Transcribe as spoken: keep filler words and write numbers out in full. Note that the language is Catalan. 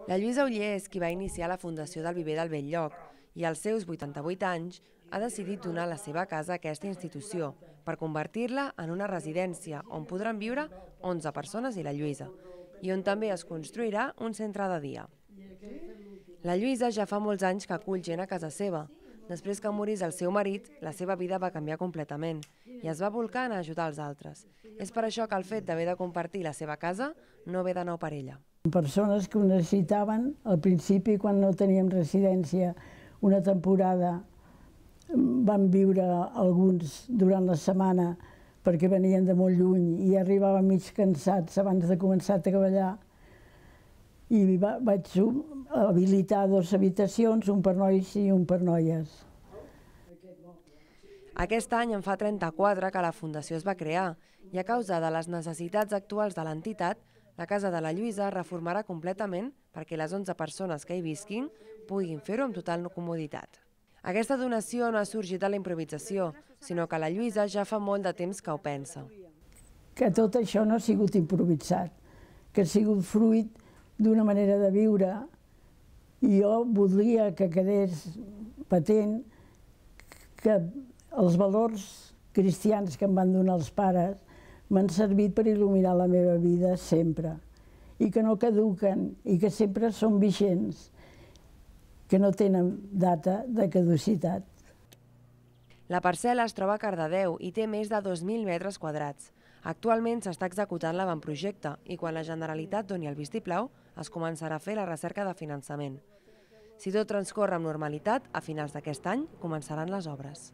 La Lluïsa Oller és qui va iniciar la fundació del Viver del Bell-lloc i als seus vuitanta-vuit anys ha decidit donar la seva casa a aquesta institució per convertir-la en una residència on podran viure onze persones i la Lluïsa, i on també es construirà un centre de dia. La Lluïsa ja fa molts anys que acull gent a casa seva. Després que morís el seu marit, la seva vida va canviar completament i es va volcar en ajudar els altres. És per això que el fet d'haver de compartir la seva casa no ve de nou per ella. Persones que ho necessitaven, al principi, quan no teníem residència, una temporada van viure alguns durant la setmana perquè venien de molt lluny i arribaven mig cansats abans de començar a treballar. I vaig habilitar dues habitacions, un per nois i un per noies. Aquest any en fa trenta-quatre que la Fundació es va crear i a causa de les necessitats actuals de l'entitat, la casa de la Lluïsa es reformarà completament perquè les onze persones que hi visquin puguin fer-ho amb total comoditat. Aquesta donació no ha sorgit de la improvisació, sinó que la Lluïsa ja fa molt de temps que ho pensa. Que tot això no ha sigut improvisat, que ha sigut fruit d'una manera de viure, i jo voldria que quedés patent que els valors cristians que em van donar els pares m'han servit per il·luminar la meva vida sempre, i que no caduquen, i que sempre són vigents, que no tenen data de caducitat. La parcel·la es troba a Cardedeu i té més de dos mil metres quadrats. Actualment s'està executant l'avantprojecte i quan la Generalitat doni el vistiplau es començarà a fer la recerca de finançament. Si tot transcorre amb normalitat, a finals d'aquest any començaran les obres.